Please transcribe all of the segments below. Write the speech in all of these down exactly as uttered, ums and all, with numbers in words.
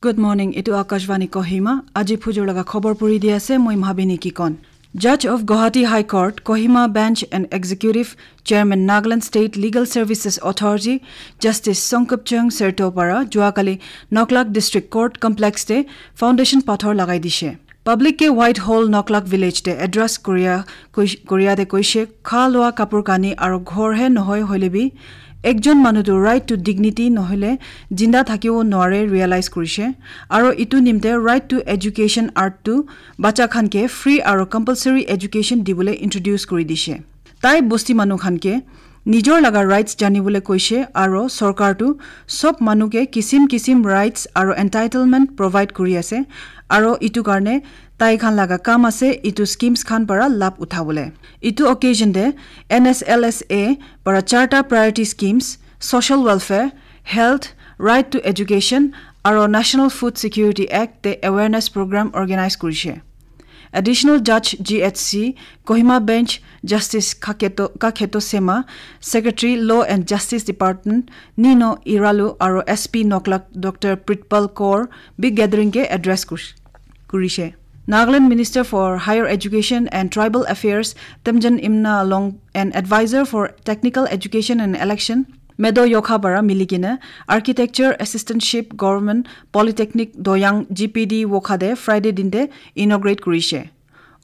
Good morning, etu Akashvani Kohima. Aji phujur laga khobor puri di ase, moi Mahabini Kikon. Judge of Guwahati High Court, Kohima Bench and Executive Chairman Nagaland State Legal Services Authority, Justice Songkupchung Serto para juakali Noklak District Court Complex te foundation pathor lagai dishe. Public ke Whitehall Noklak Village te address koria, koi-, koria te koishe, kha loa kapur kani aro ghor he nohoi hoile bi, ekjon manu tu right to dignity nohole jinda thakibo nware realize korishe, aro itu nimte right to education art tu bacha khan ke free aro compulsory education dibole introduce kuri dishe. Tai bosti manu khan ke nijor laga rights janibole koishe aro sorkar tu sob manu ke kisim kisim rights aro entitlement provide kuri ase, aro itu karne tai khan laga kam ase itu schemes khan para labh uthabole. Itu occasion te N S L S A para charta priority schemes, social welfare, health, right to education, aro National Food Security Act te awareness program organize kurishe. Additional Judge G H C, Kohima Bench, Justice Kaketo, Kaketo Sema, Secretary Law and Justice Department, Nino Iralu, aro S P Noklak, Doctor Pritpal Kaur, big gathering ke address kush-, kurishe. Nagaland Minister for Higher Education and Tribal Affairs, Temjen Imna Along, and Advisor for Technical Education and Election, Medo Yokha para milikina Architecture Assistantship Government Polytechnic Doyang G P D Wokha de Friday dinte inaugurate kurishe.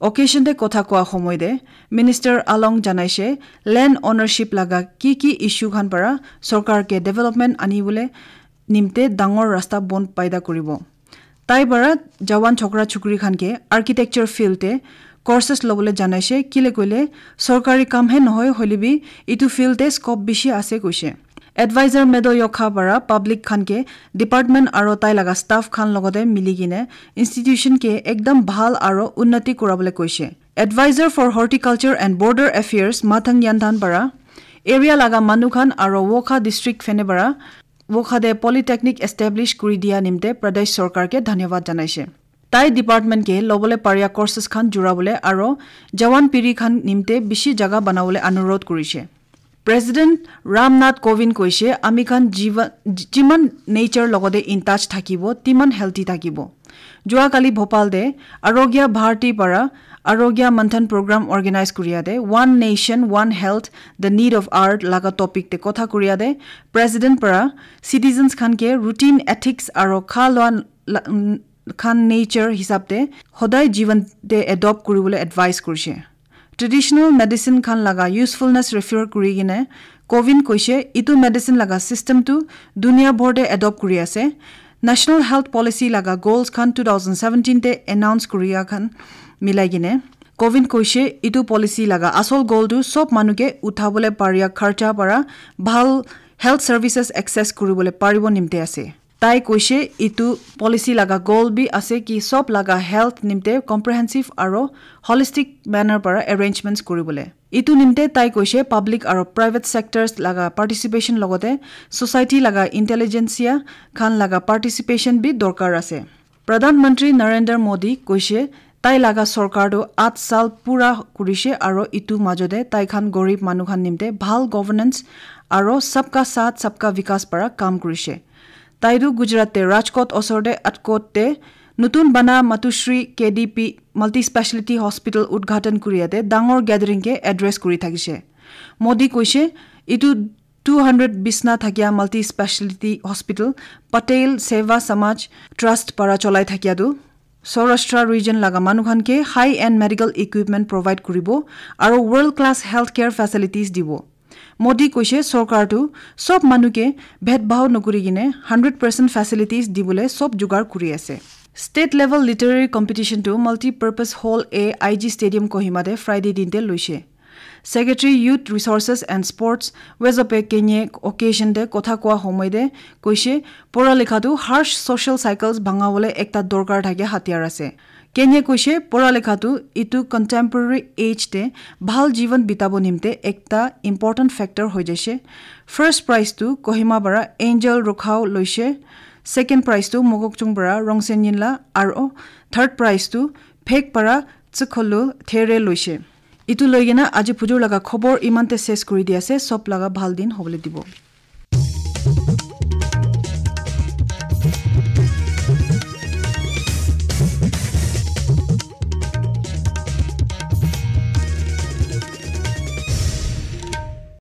Occasion te kotha koa homoi te Minister Along janaishe land ownership laga ki ki issue khan para sorkar ke development anibole nimte dangor rasta bon paida kuribo. Tai para jawan chokra chukri khan ke architecture field te courses lobole janaishe, kile koile sorkari kam he nohoi hoile bi itu field te scope bishi ase koishe. Advisor Medo Yokha para public khan ke department aro tai laga staff khan logote mili kine institution ke ekdam bhal aro unnati kurabole koishe. Advisor for Horticulture and Border Affairs Mathang Yanthan para area laga manu khan aro Wokha district phene para Wokha de Polytechnic establish kuri dia nimte Pradesh Sorkar ke dhanyawad janaishe. Tai department ke lobole paria courses khan jurabole aro jawan piri khan nimte bishi jaga banabole anurod kurishe. President Ram Nath Kovind koishe, ami khan jiva-, jiman nature logode in touch thakibo, timan healthy thakibo. Jua kali Bhopal de Arogya Bharati para Arogya Manthan program organize kuriya de One Nation, One Health, The Need of Earth laga topic te kotha kuriya de President para citizens khan ke routine ethics aro kha loa la-, n-, khan nature hisab te hodai jivan te adopt kuribole advice kurishe. Traditional medicine khan laga usefulness refer kuri kine Kovind koishe, itu medicine laga system tu dunia bhor te adopt kuri ase. National Health Policy laga goals khan two thousand seventeen te announce kuriya khan milai kine Kovind koishe, itu policy laga asol goal tu sob manu ke uthabole paria kharcha para bhal health services access kuribole paribo nimte ase. Tai koishe, itu policy laga goal bi ase ki sob laga health nimte comprehensive aro holistic manner para arrangements kuribole. Itu nimte tai koishe, public aro private sectors laga participation logote society laga intelligentsia khan laga participation bi dorkar ase. Pradhan Mantri Narendra Modi koishe, tai laga sorkar tu at sal pura kurishe aro itu majode tai khan gorib manu khan nimte bhal governance aro sabka saath sabka vikas para kam kurishe. Tai tu Gujarat te Rajkot osor te Atkot te nutun bana Matushri K D P Multispeciality Hospital udghatan kuriya te dangor gathering ke address kuri thakishe. Modi koishe, itu two hundred bisna thakia multispeciality hospital Patel Seva Samaj Trust para cholai thakia tu Saurashtra region laga manu khan ke high end medical equipment provide kuribo aro world class healthcare facilities dibo. Modi koishe sorkar tu sob manu ke bhed bhao nokuri kine hundred percent facilities dibole sob jugar kuri ase. State level literary competition tu multi purpose hall A I G Stadium Kohima de Friday din te loishe. Secretary Youth Resources and Sports Wezope Kenye occasion de kotha koa homoi de koishe, pora likha tu harsh social cycles bhangawole ekta dorkar thake hatiyar ase. Kenye koishe, pora likha tu itu contemporary age te bhal jivan bitabo nimte ekta important factor hoi jaishe. First prize tu Kohima para Angel Rukhao loishe, second prize tu Mokokchung para Rongsen Yinla aro third prize tu Phek para Tsikholu There loishe. Itu loi kena aji phujur laga khobor imante ses kuri di ase, sob laga bhal din hobole dibo.